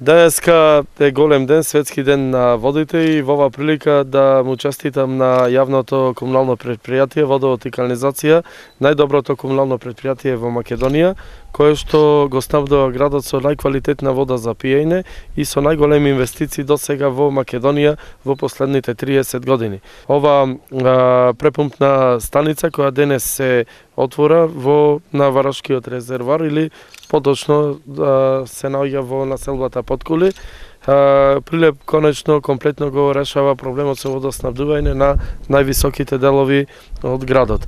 Денеска е голем ден, светски ден на водите и во оваа прилика да му честитам на јавното комунално предпријатие Водовод и канализација, најдоброто комунално предпријатие во Македонија, кое што го снабдува градот со најквалитетна вода за пиење и со најголеми инвестиции до сега во Македонија во последните 30 години. Ова препумпна станица која денес се отвора на Варашкиот резервоар или поточно се наоѓа во населбата Подкули. Прилеп конечно комплетно го решава проблемот со водоснабдување на највисоките делови од градот.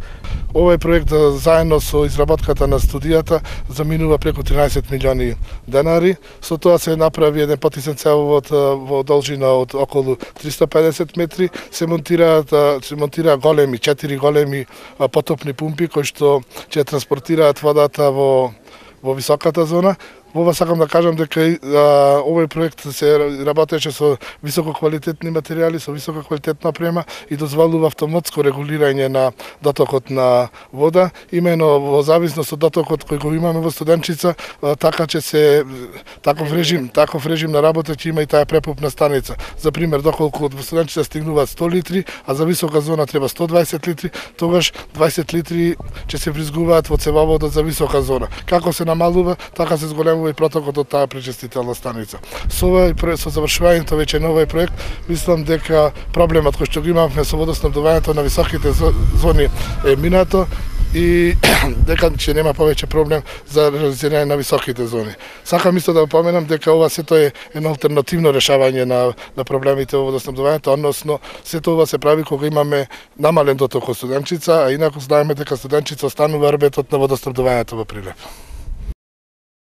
Овој проект заедно со изработката на студијата заминува преку 13 милиони денари. Со тоа се направи еден потисен цевовод во должина од околу 350 метри. Се монтира големи 4 големи потопни пумпи кои што ќе транспортираат водата во високата зона. Ова сакам да кажам дека овој проект се работеше со висококвалитетни материјали, со висококвалитетна опрема и дозволува автоматско регулирање на дотокот на вода, имено во зависност од дотокот кој го имаме во Студенчица, така че се таков режим на работа ќе има и таа препумпна станица. За пример, доколку во Студенчица стигнуваат 100 литри, а за висока зона треба 120 литри, тогаш 20 литри ќе се вризгуваат во цевоводот за висока зона. Како се намалува, така се зголемува и протокот од таа пречистителна станица. Со завршувањето веќе на овој проект, мислам дека проблемот кој што го имавме со водоснабдувањето на високите зони е минато и дека ќе нема повеќе проблем за реализирање на високите зони. Сакам исто да поменам дека ова сето е едно алтернативно решавање на проблемите во водоснабдувањето, односно сето ова се прави кога имаме намален доток од Студенчица, а инаку знаеме дека Студенчица останува рбетот на водоснабдувањето во Прилеп.